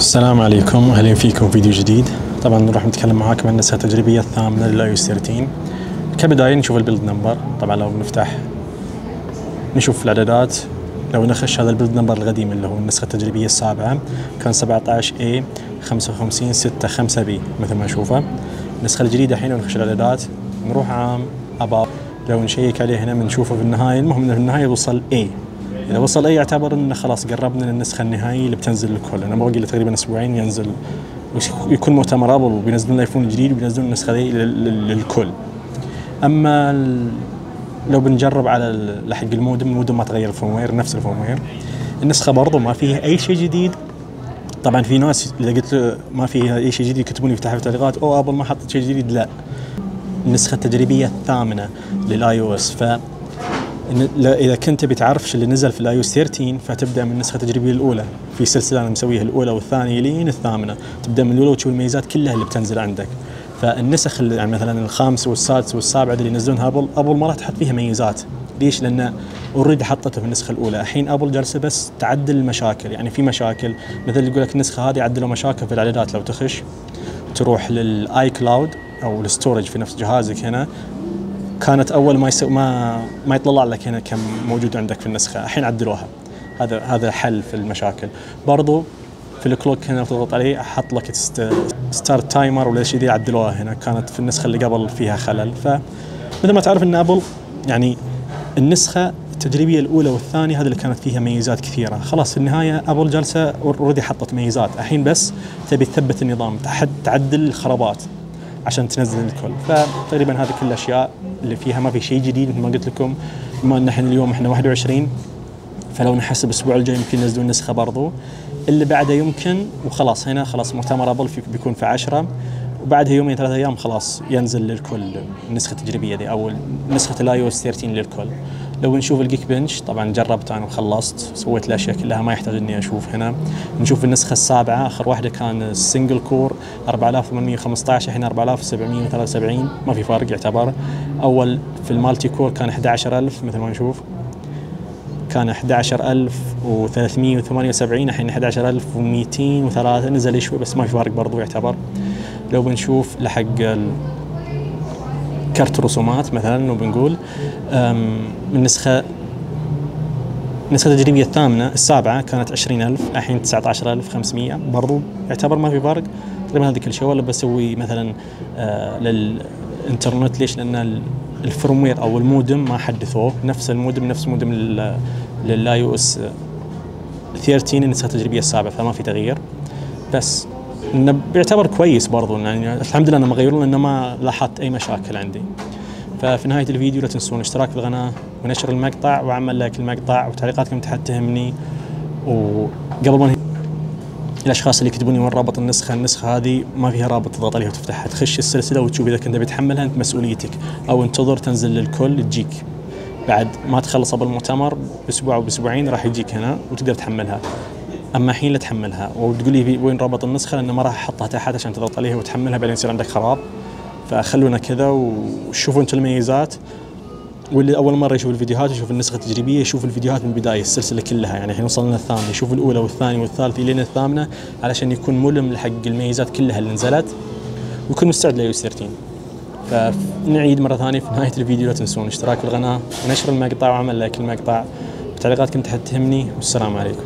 السلام عليكم واهلا فيكم فيديو جديد. طبعا راح نتكلم معاكم عن النسخة التجريبية الثامنة للاي او اس 13. كبداية نشوف البيلد نمبر. طبعا لو نفتح نشوف الاعدادات، لو نخش هذا البيلد نمبر القديم اللي هو النسخة التجريبية السابعة كان 17A 5565B مثل ما نشوفه. النسخة الجديدة الحين لو نخش الاعدادات نروح عام اباب، لو نشيك عليه هنا بنشوفه في النهاية. المهم انه في النهاية وصل A. إذا وصل أي يعتبر إنه خلاص قربنا للنسخة النهائية اللي بتنزل للكل. أنا باقي له تقريبا أسبوعين ينزل ويكون مؤتمر أبل وبينزلون الآيفون الجديد وبينزلون النسخة ذي للكل. أما لو بنجرب على حق المودم ما تغير الفيرموير، نفس الفيرموير. النسخة برضو ما فيها أي شيء جديد. طبعا في ناس إذا قلت له ما فيها أي شيء جديد يكتبون لي في تحت التعليقات أو أبل ما حطت شيء جديد. لا، النسخة التجريبية الثامنة للآي أو إس. إذا كنت بتعرف اللي نزل في الاي او اس 13 فتبدأ من النسخة التجريبية الأولى. في سلسلة أنا مسويها الأولى والثانية لين الثامنة، تبدأ من الأولى وتشوف الميزات كلها اللي بتنزل عندك. فالنسخ اللي يعني مثلا الخامس والسادس والسابع اللي ينزلونها أبل ما راح تحط فيها ميزات. ليش؟ لأن اوريدي حطته في النسخة الأولى. الحين أبل جالسة بس تعدل المشاكل. يعني في مشاكل مثل يقول لك النسخة هذه عدلوا مشاكل في الإعدادات. لو تخش تروح للآي كلاود أو الستورج في نفس جهازك هنا، كانت اول ما يطلع لك هنا كم موجود عندك في النسخه. الحين عدلوها. هذا حل في المشاكل. برضو في الكلوك هنا تضغط عليه حط لك ستارت تايمر ولا شيء ذي، عدلوها هنا. كانت في النسخه اللي قبل فيها خلل. فمثل ما تعرف ان ابل يعني النسخه التجريبيه الاولى والثانيه هذه اللي كانت فيها ميزات كثيره. خلاص في النهايه ابل جالسه اوريدي حطت ميزات. الحين بس تبي تثبت النظام، تعدل الخرابات عشان تنزل الكل. فتقريبا هذه كل الاشياء اللي فيها، ما في شيء جديد مثل ما قلت لكم. بما ان احنا اليوم 21، فلو نحسب الاسبوع الجاي يمكن ينزلون النسخه برضو اللي بعده يمكن. وخلاص هنا خلاص مؤتمر ابل بيكون في 10، وبعدها يومين 3 ايام خلاص ينزل للكل النسخه التجريبيه دي او نسخه الاي او اس 13 للكل. لو نشوف الجيك بنش، طبعا جربت انا وخلصت، سويت الاشياء كلها ما يحتاج اني اشوف هنا. نشوف النسخه السابعه، اخر واحده كان السنجل كور 4815، الحين 4773، ما في فرق يعتبر. اول في المالتي كور كان 11000 مثل ما نشوف، كان 11378، الحين 11203، نزل شوي بس ما في فرق برضو يعتبر. لو بنشوف لحق كرت رسومات مثلا وبنقول النسخة التجريبية الثامنة السابعة كانت 20000، الحين 19500، برضو يعتبر ما في فرق تقريبا. هذه كل شيء. ولا بسوي مثلا للإنترنت. ليش؟ لأن الفيرموير أو المودم ما حدثوه، نفس المودم للاي او اس 13 النسخة التجريبية السابعة، فما في تغيير. بس انه بيعتبر كويس برضو. يعني الحمد لله انهم غيرون لانه ما لاحظت اي مشاكل عندي. ففي نهاية الفيديو لا تنسون الاشتراك في القناة ونشر المقطع وعمل لايك المقطع وتعليقاتكم تحت تهمني. وقبل ما الاشخاص اللي يكتبوني وين رابط النسخة هذه ما فيها رابط تضغط عليها وتفتحها، تخش السلسلة وتشوف اذا كنت بتحملها انت مسؤوليتك، او انتظر تنزل للكل تجيك بعد ما تخلص بالمؤتمر باسبوع او باسبوعين راح يجيك هنا وتقدر تحملها. اما الحين لا تحملها وتقول لي وين رابط النسخه، لانه ما راح احطها تحت عشان تضغط عليها وتحملها بعدين يصير عندك خراب. فخلونا كذا وشوفوا انتم الميزات. واللي اول مره يشوف الفيديوهات يشوف النسخه التجريبيه يشوف الفيديوهات من البدايه السلسله كلها. يعني الحين وصلنا الثامنه، يشوف الاولى والثانيه والثالثه لين الثامنه علشان يكون ملم لحق الميزات كلها اللي نزلت ويكون مستعد لاي او اس 13. فنعيد مره ثانيه في نهايه الفيديو لا تنسون الاشتراك في القناه ونشر المقطع وعمل لايك المقطع وتعليقاتكم تحت تهمني. والسلام عليكم.